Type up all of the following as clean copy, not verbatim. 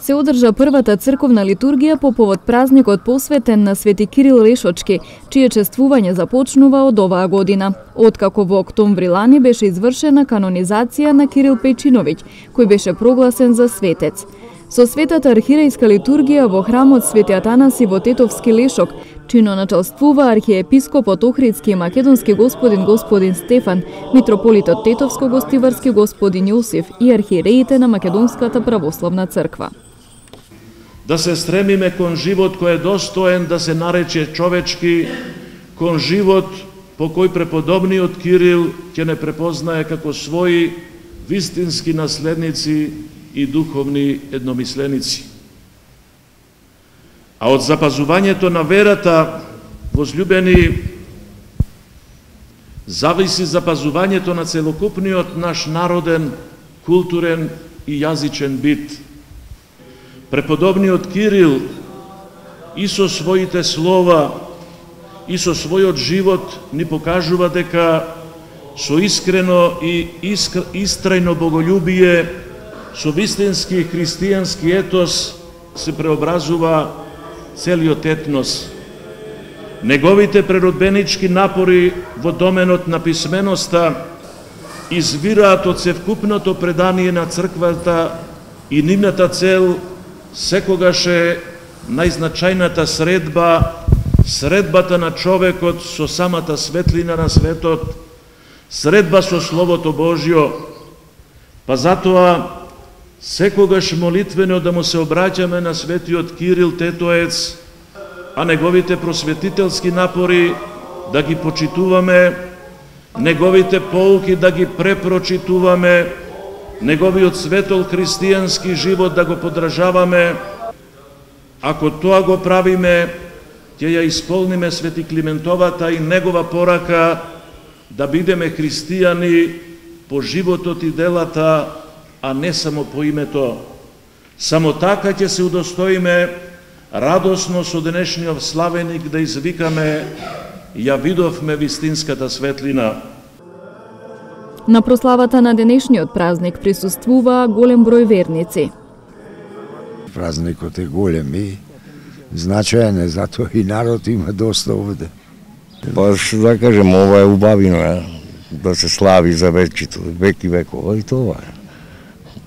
се одржа првата црковна литургија по повод празникот посветен на Свети Кирил Лешочки, чие чествување започнува од оваа година, откако во октомври лани беше извршена канонизација на Кирил Пејчиновиќ, кој беше прогласен за светец. Со светата архиерејска литургија во храмот Свети Атанаси во Тетовски Лешок чино началствува архиепископот Охридски и македонски господин Стефан, митрополитот Тетовско-Гостиварски господин Јосиф и архиереите на Македонската православна црква. Да се стремиме кон живот кој е достоен да се нарече човечки, кон живот по кој преподобниот Кирил ќе не препознае како своји вистински наследници и духовни едномисленици. А од запазувањето на верата, возлюбени, зависи запазувањето на целокупниот наш народен, културен и јазичен бит. Преподобниот Кирил и со своите слова и со својот живот ни покажува дека со искрено и истрајно боголюбие, со вистински христијански етос се преобразува целиот етнос. Неговите преродбенички напори во доменот на писменоста извираат од севкупното предание на црквата и нивната цел секогаш е најзначајната средбата на човекот со самата светлина на светот, средба со Словото Божјо, па затоа секогаш молитвено да му се обраќаме на светиот Кирил Тетоец, а неговите просветителски напори да ги почитуваме, неговите поуки да ги препрочитуваме, неговиот светол христијански живот да го подражаваме. Ако тоа го правиме, ќе ја исполниме Свети Климентовата и негова порака да бидеме христијани по животот и делата, а не само по името. Само така ќе се удостоиме радосно со денешниот славеник да извикаме: ја видовме вистинската светлина. На прославата на денешниот празник присуствуваа голем број верници. Празникот е голем и значаен е, затоа и народ има доста овде. Па да кажем, ова е убавина, да се слави за вечето, век и векова, и тоа е.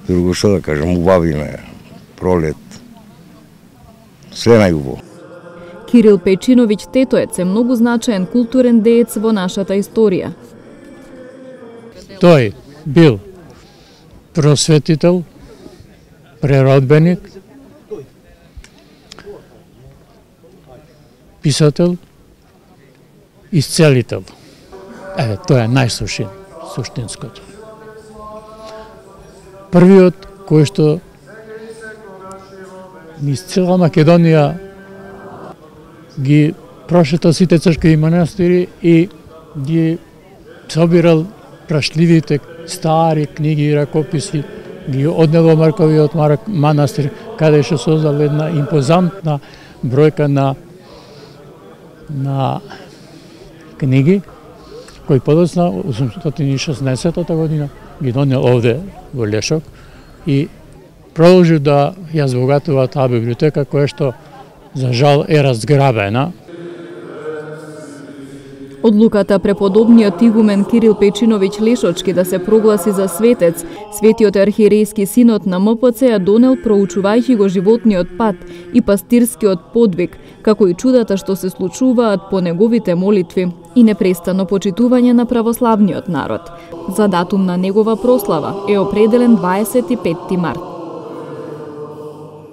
Друго што да кажем, убавина е, пролет, се најубаво. Кирил Пејчиновиќ Тетоец е многу значаен културен деец во нашата историја. Тој бил просветител, преродбеник, писател, исцелител. Тоа е суштинското. Првиот кој што низ цела Македонија ги прошетал сите цркви и манастири и ги собирал прашливите стари книги и ракописи, ги однел во Марковиот манастир, каде што создал една импозантна бројка на книги, кои подоцна 816 година ги донел овде во Лешок и продолжи да ја збогатува таа библиотека која што за жал е разграбена. Одлуката преподобниот игумен Кирил Пејчиновиќ Лешочки да се прогласи за светец, Светиот архиерејски синод на МПЦ ја донел проучувајќи го животниот пат и пастирскиот подвиг, како и чудата што се случуваат по неговите молитви и непрестано почитување на православниот народ. За датум на негова прослава е определен 25 март.